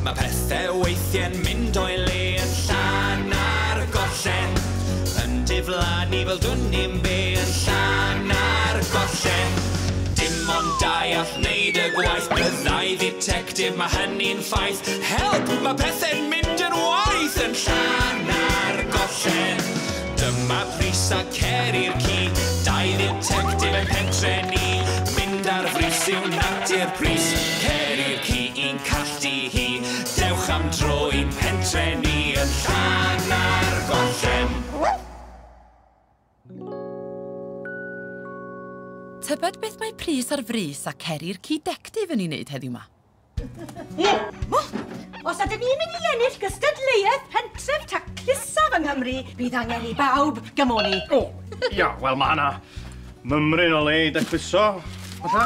Mae pethau weithiau'n mynd o'i le yn Llanargollen. Yn diflannu fel dwn i'm be yn Llanargollen. Dim ond dau all wneud y gwaith, byddai dditectif, mae hynny'n ffaith. Help, mae pethau'n mynd yn waeth yn Llanargollen. Dyma Pris a Ceri'r ci, dau dditectif yn pentre ni. Mynd ar frys yw natur Pris, Ceri'r ci i'n calltu hi. Dewch am dro i'n pentre ni yn Llanargollen. Tybed beth mae Pris ar frys a Ceri'r ci dectif yn ei wneud heddiw 'ma? Os ydyn ni'n mynd i ennill gystadleuaeth pentref taclusaf yng Nghymru, bydd angen i bawb gymoni. O, ia, wel mae yna mymryn o le i dacluso, fatha.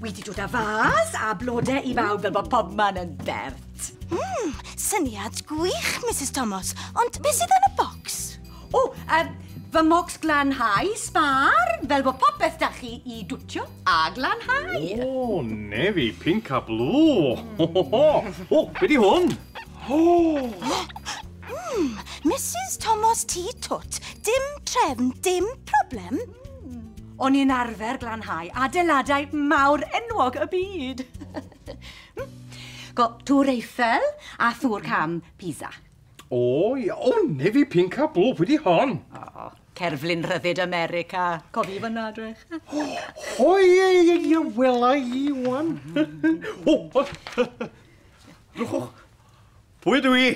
Wedi dod â fas a blodau i bawb fel bod pobman yn bert. Syniad gwych, Mrs Thomas, ond beth sydd yn y bocs? O, fy mocs glanhau sbar, fel bod popeth da chi i dwtio a glanhau. O, nefi, pink a blue. Ho, ho, ho. O, be di hwn? O! Mrs Thomas T. Twt, dim trefn, dim problem. O'n i'n arfer glanhau adeiladau mawr enwog y byd. Go, Tŵr Eiffel a Thŵr Cam Pisa. O, ia, o, nefi, pink a blue, pwy di hon? O, cerflun rhyddid America. Cofi fyna, drych. O, ie, ie, ie, wela i, wan. O, drychwch. Pwy ydw i?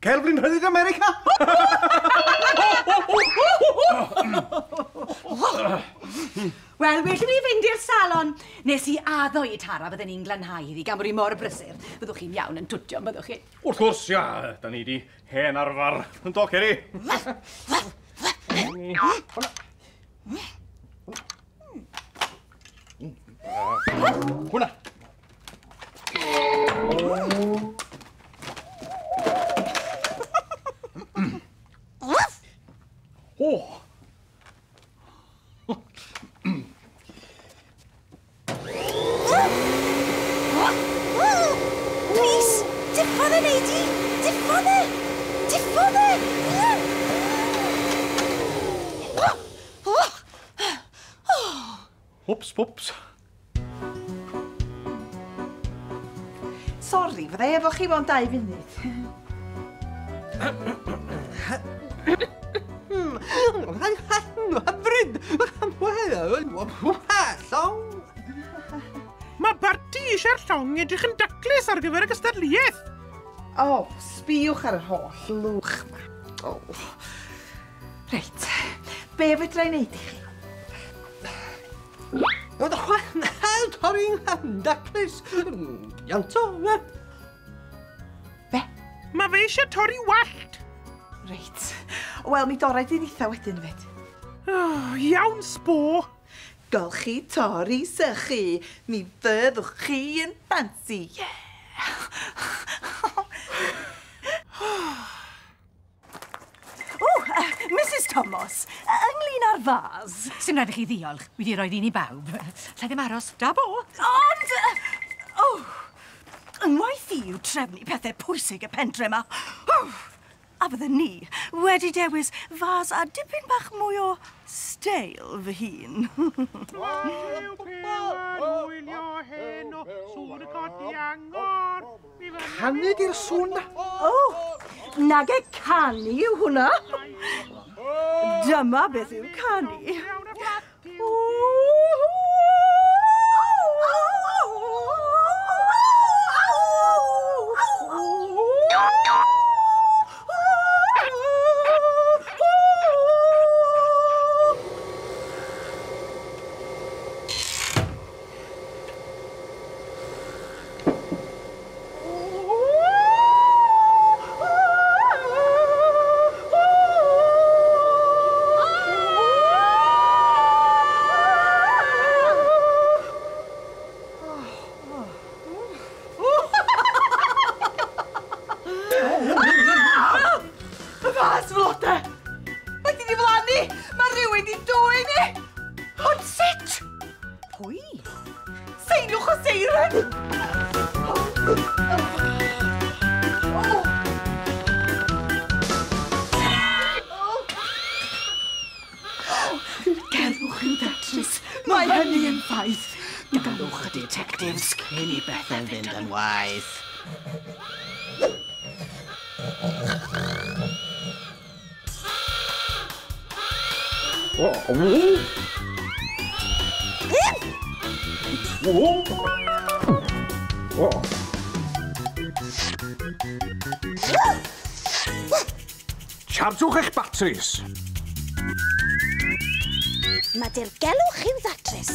Cerflun rhyddid America? Wel, well i mi fynd i'r salon. Nes i addo i Tara fydden ni'n glanhau iddi gan bod hi mor brysur. Byddwch chi'n iawn yn twtio, byddwch chi? Wrth gwrs, ia. Da ni di hen arfer. Yn do, Ceri? Hwna. O! Pris, diffodd e, Neidi! Diffodd e! Diffodd e! Wps, wps. Sori, fydda i efo chi mewn 2 munud. Hyfryd! Llong! Mae Barti eisiau'r llong edrych yn daclus ar gyfer y gystadleuaeth. O, sbïwch ar yr holl lwch ma. O. Reit, be fedra i wneud i chi? Torri'n daclus! Ianto! Be? Mae fe eisiau torri wallt. Reit. Wel, mi dorau di'n eitha wedyn fyd. Oh, iawn, sbo. Golchi, torri, sychu. Mi fyddwch chi yn ffansi. Yeah. O, Mrs Thomas, ynglyn â'r fas. Sdim rhaid i chi ddiolch. Wedi rhoi un i bawb. Lle ddim aros, da bo. Ond, o, yngwaith i yw trefnu pethau pwysig y pentre yma. A fydden ni wedi dewis fas a dipyn bach mwy o steil fy hun. Canu di'r sŵn na? O, nage canu yw hwnna. Dyma beth yw canu. Jeeves cyn i bethau fynd yn waeth. Chargwch eich batris. Mae dirgelwch i'w ddatrys.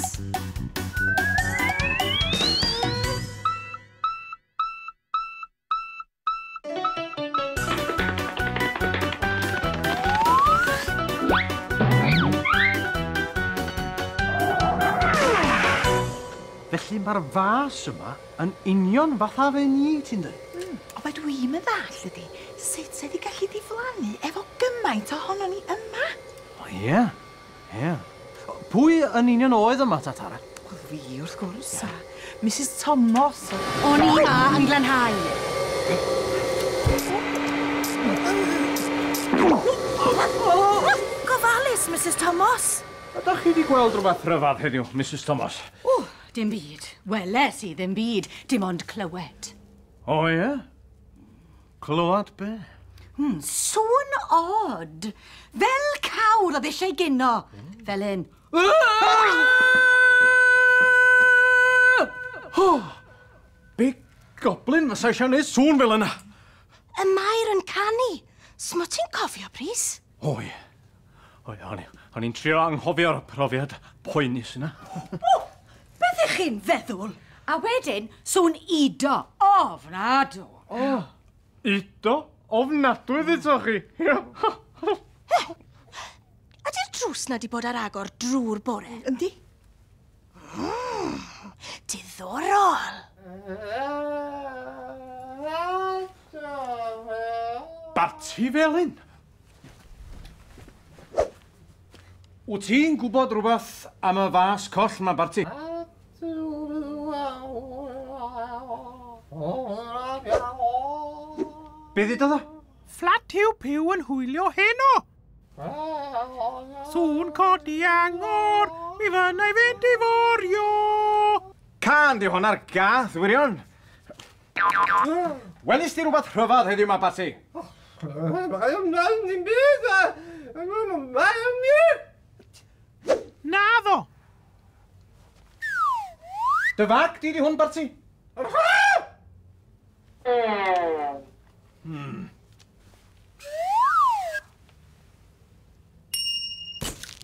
Felly mae'r fas yma yn union fatha fe ni, ti'n dweud? Ond be dwi'n yn ddall ydi, sut sydd wedi gallu diflannu efo gymaint ohono ni yma? O ie, ie. Pwy yn union oedd yma, ta Tara? Wel fi, wrth gwrs, a Mrs Thomas. O'n i ma yn glanhau. Gofalus, Mrs Thomas. Ydych chi wedi gweld rhywbeth rhyfedd heddiw, Mrs Thomas? O, dim byd. Weles i ddim byd, dim ond clywed. O ie? Clywed be? Sŵn od. Fel cawr oedd eisiau gino. Fel un. Be goblin fysa eisiau gwneud sŵn fel yna? Y Mair yn canu. Smo ti'n cofio, Prys? O ie. O ie, o'n i'n trio anghofio'r profiad poenus yna. O, beth ych chi'n feddwl? A wedyn, sŵn udo. Ofnadw. O, udo? Ofnadwy ddeudsoch chi. Ydy'r drws na di bod ar agor drwy'r bore? Yndi. Diddorol. Barti Felyn. Wyt ti'n gwybod rhywbeth am y fas coll ma, Barti? Be ddudodd o? Fflat Huw Puw yn hwylio heno. Sŵn codi angor, mi fynna i fynd i forio. Can di hwnna'r gath, wirion. Welys di rhywbeth rhyfedd heddiw ma, Barti? Naddo. Dy fag di hwn, Barti?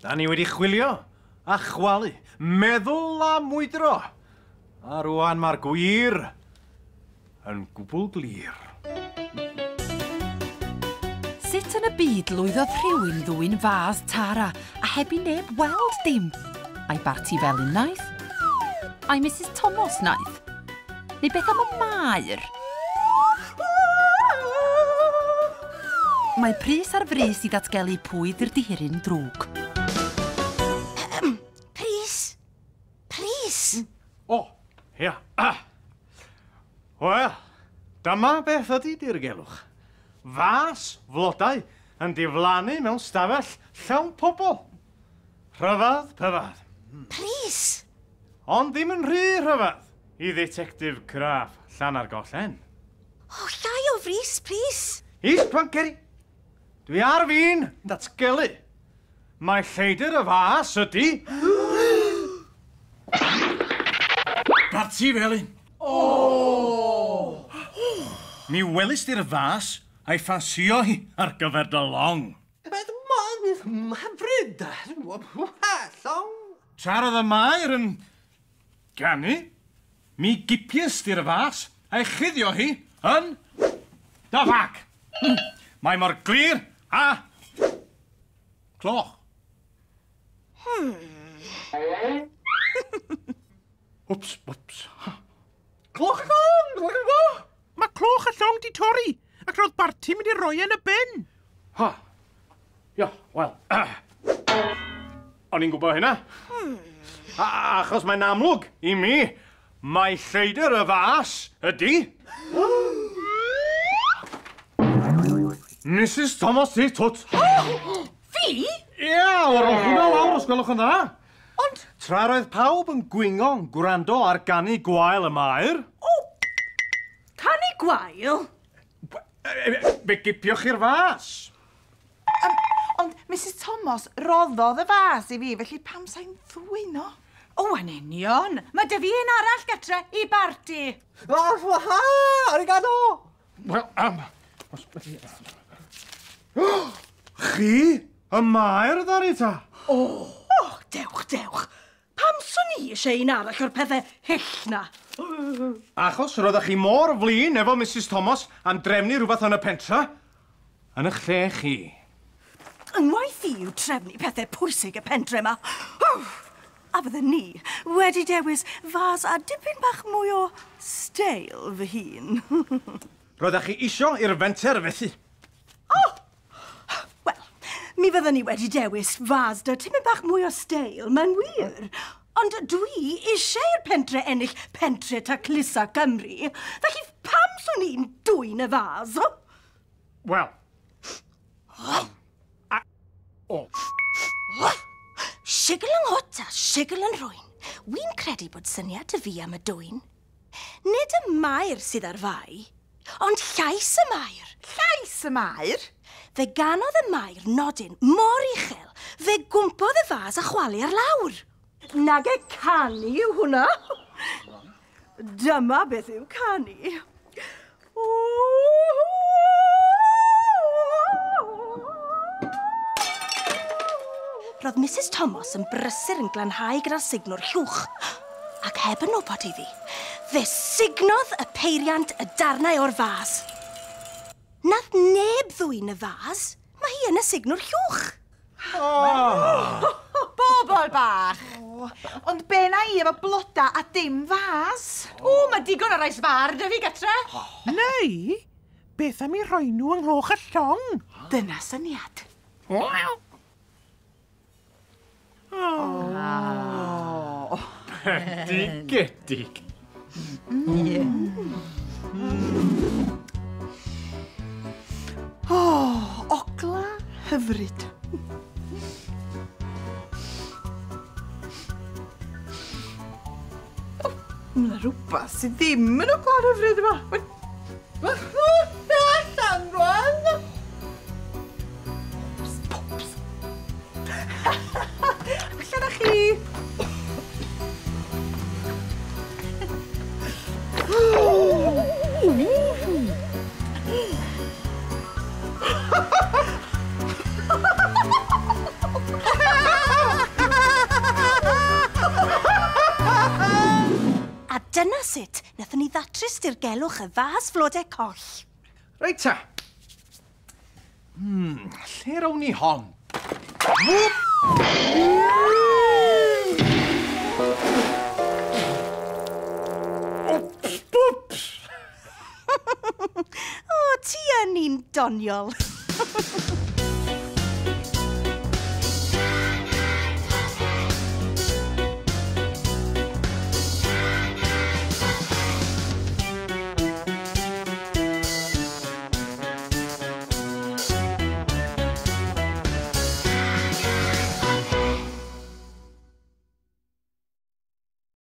Da ni wedi chwilio a chwalu, meddwl a mwydro. A rwan mae'r gwir yn gwbl glir. Sut yn y byd lwyddodd rhywun ddwyn fas Tara a heb i neb weld dim? Ai Barti Felyn naeth? Ai Mrs Thomas naeth? Neu beth am y Maer? Mae Prys ar frys i ddatgelu pwy ydy'r dihiryn drwg. Prys! Prys! O, ia. Wel, dyma beth ydy dirgelwch. Fas flodau yn diflannu mewn stafell llawn pobl. Rhyfedd pyfedd. Prys! Ond ddim yn rhy rhyfedd i ddetectif craff Llanargollen. O, llai o frys, Prys! Is, Planceri! Dwi ar fin datgelu. Mae lleidr y fas ydy... Barti Felyn! O! Mi welys di'r fas a'i ffansio hi ar gyfer dy long. Hyfryd! Llong! Tra roedd y Maer yn ganu, mi gipies di'r fas a'i chuddio hi yn dy fag. Mae mor glir a cloch. Wps, wps. Cloch y llong! Cloch y llong! Mae cloch y llong di torri, ac roedd Barti mynd i roi yn y bin. Ha. Ia, wel. O'n i'n gwybod hynna. Achos mae'n amlwg i mi, mae lleidr y fas ydy... Mrs Thomas i twt. Fi? Ia, o'r hwnna lawr os gwelwch yn dda. Ond... Tra roedd pawb yn gwingo yn gwrando ar ganu gwael y maer... O! Canu gwael? Fe gipioch chi'r fas. Ond Mrs Thomas roddodd y fas i fi, felly pam sa'n ddwyn o? O, yn union. Mae dy fi un arall gatre i barti. Waha! Arigato! Wel, Chi? Y maer ddaru ta? O, dewch, dewch. Pam swn i eisiau un arall o'r pethau hyll na? Achos roeddech chi mor flin efo Mrs Thomas am drefnu rhywbeth yn y pentra, yn eich lle chi. Yngwaith i yw trefnu pethau pwysig y pentre yma. A fydden ni wedi dewis fas a dipyn bach mwy o steil fy hun. Roeddech chi isio i'r fenter fethu. Wel, mi fydden ni wedi dewis fas da tipyn bach mwy o steil, mae'n wir. Ond dwi eisiau i'r pentre ennill Pentre Taclusa Cymru, felly pam swn i'n dwyn y fas? Wel. Sigl yng nghwt a sigl yn rhwyn. Wi'n credu bod syniad y fi am y dwyn. Nid y maer sydd ar fai, ond llais y maer. Llais y maer? Fe ganodd y maer nodyn mor uchel, fe gwmpodd y fas a chwalu ar lawr. Nage canu yw hwnna. Dyma beth yw canu. Roedd Mrs Thomas yn brysur yn glanhau gyda'r signwr llwch. Ac heb yn wybod iddi, fe signodd y peiriant y darnau o'r fas. Nath neb ddwyn y fas, mae hi yn y signwr llwch. Bobol bach! Ond be na i efo bloda a dim fas? O, mae digon o rai sbar dy fi gatre. Neu, beth am i rhoi nhw yng nghloch y llong? Dyna syniad. Bendigedig. O, ogla hyfryd. Mae yna rhywbeth sydd ddim yn ogla hyfryd yma. Allan rwan! Pops, pops. Allan â chi! A dyna sut wnaethon ni ddatrys dirgelwch y fas flodau coll. Reit ta. Lle rown ni hon? Wps! O, ti yn un doniol.